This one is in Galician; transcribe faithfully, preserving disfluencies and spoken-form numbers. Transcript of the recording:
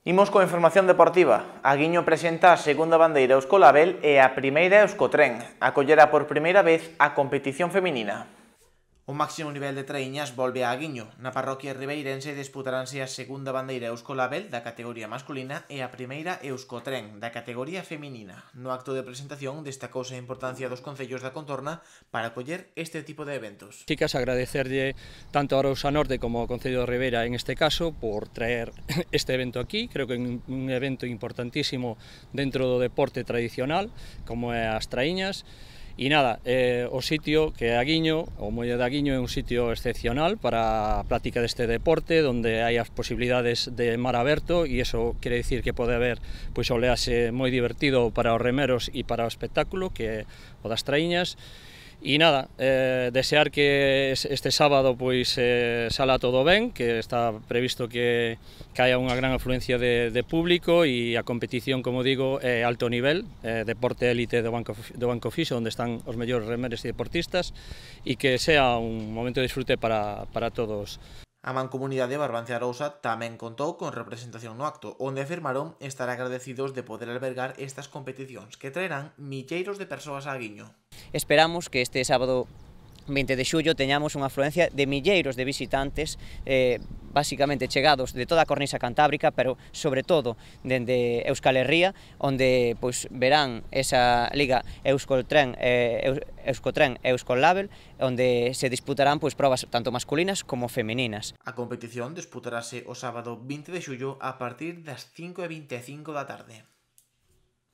Imos coa información deportiva. Aguiño presenta a segunda bandeira Euskolabel e a primeira Euskotren. Acollerá por primeira vez a competición feminina. O máximo nivel de traíñas volve a Aguiño. Na parroquia ribeirense disputaránse a segunda bandeira Euskolabel da categoría masculina e a primeira Euskotren da categoría feminina. No acto de presentación destacouse a importancia dos concellos da contorna para acoller este tipo de eventos. Chicas, agradecerlle tanto a Arousa Norte como ao Concello de Ribeira en este caso por traer este evento aquí. Creo que é un evento importantísimo dentro do deporte tradicional como é as traíñas. E nada, eh, o sitio que é Aguiño, o Molle de Aguiño é un sitio excepcional para a práctica deste deporte, onde hai as posibilidades de mar aberto e iso quere dicir que pode haber pois, oleaxe moi divertido para os remeros e para o espectáculo, que é o das traíñas. E nada, eh, desear que este sábado pois eh, sala todo ben, que está previsto que, que haya unha gran afluencia de, de público e a competición, como digo, é alto nivel, eh, deporte élite do Banco, do Banco Fixo, onde están os mellores remeres e deportistas, e que sea un momento de disfrute para, para todos. A Mancomunidade Barbanza Arousa tamén contou con representación no acto, onde afirmaron estar agradecidos de poder albergar estas competicións que traerán milleiros de persoas a Aguiño. Esperamos que este sábado vinte de xullo teñamos unha afluencia de milleiros de visitantes, eh, basicamente chegados de toda a cornisa cantábrica, pero sobre todo dende Euskal Herria, onde pois, verán esa liga Euskotren, eh, Euskotren e Euskolabel, onde se disputarán pois, probas tanto masculinas como femininas. A competición disputarase o sábado vinte de xullo a partir das cinco e vinte e cinco da tarde.